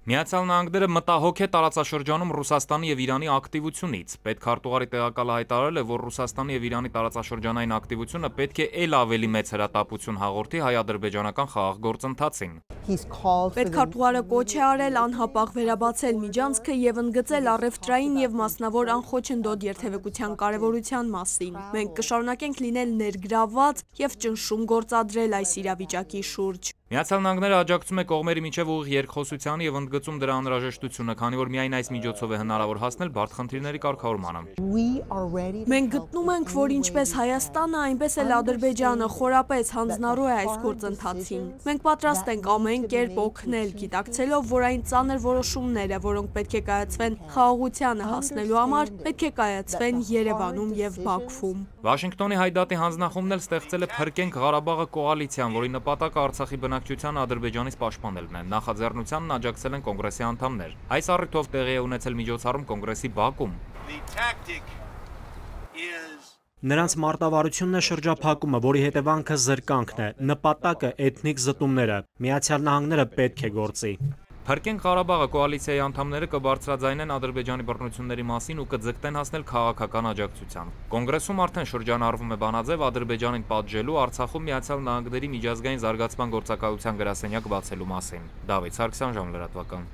Միացյալ Նահանգները մտահոգ է տարածաշրջանում Ռուսաստանի եւ Իրանի ակտիվությունից։ Պետքարտուղարի տեղակալը հայտարարել է, որ Ռուսաստանի եւ Իրանի տարածաշրջանային ակտիվությունը պետք է ել ավելի մեծ հրատապություն հաղորդի հայ-ադրբեջանական խաղաղ գործընթացին։ Պետքարտուղարը կոչ է արել անհապաղ վերաբացել միջանցքը եւ ընդգծել առևտրային եւ մասնավոր անխոչնդոտ երթևեկության կարեւորության մասին։ Մենք կշարունակենք լինել ներգրավված եւ ճնշում գործադրել այս իրավիճակի շուրջ։ Միացյալ Նահանգները աջակցում է կողմերի միջև ուղիղ երկխոսությանը եւ ընդգծում դրա անհրաժեշտությունը, քանի որ միայն այս միջոցով է հնարավոր հասնել բարդ խնդիրների կարգավորմանը։ Մենք գտնում ենք, որ ինչպես Հայաստանը, այնպես էլ Ադրբեջանը խորապես հանձնառու է այս գործընթացին։ Մենք պատրաստ ենք ամեն կերպ օգնել, գիտակցելով, որ այն ծանր որոշումները, որոնք պետք է կայացվեն խաղաղությանը հասնելու համար, պետք է կայացվեն Երևանում եւ Բաքվում։ Վաշինգտոնի հայդատի հանձնախումբն էլ ստեղծել է «Փրկենք Ղարաբաղը» կոալիցիան, որի նպատակը Արցախի բնակչությանը Ադրբեջանից պաշտպանելն է։ Նախաձեռնությանն աջակցել են կոնգրեսի անդամներ։ Այս առիթով տեղի է ունեցել միջոցառում կոնգրեսի բակում։ Նրանց մարտավարությունն է շրջափակումը, որի հետևանքը զրկանքն է, նպատակը էթնիկ զտումները։ Միացյալ Նահանգները պետք է գործի։ «Փրկենք Ղարաբաղը» կոալիցիայի անդամները կբարձրաձայնեն Ադրբեջանի բռնությունների մասին ու կձգտեն հասնել քաղաքական աջակցության։ Կոնգրեսում արդեն շրջանառվում է բանաձև Ադրբեջանին պատժելու, Արցախում Միացյալ Նահանգների միջազգային զարգացման գործակալության գրասենյակ բացելու մասին։ Դավիթ Սարգսյան, Ժամլրատվական։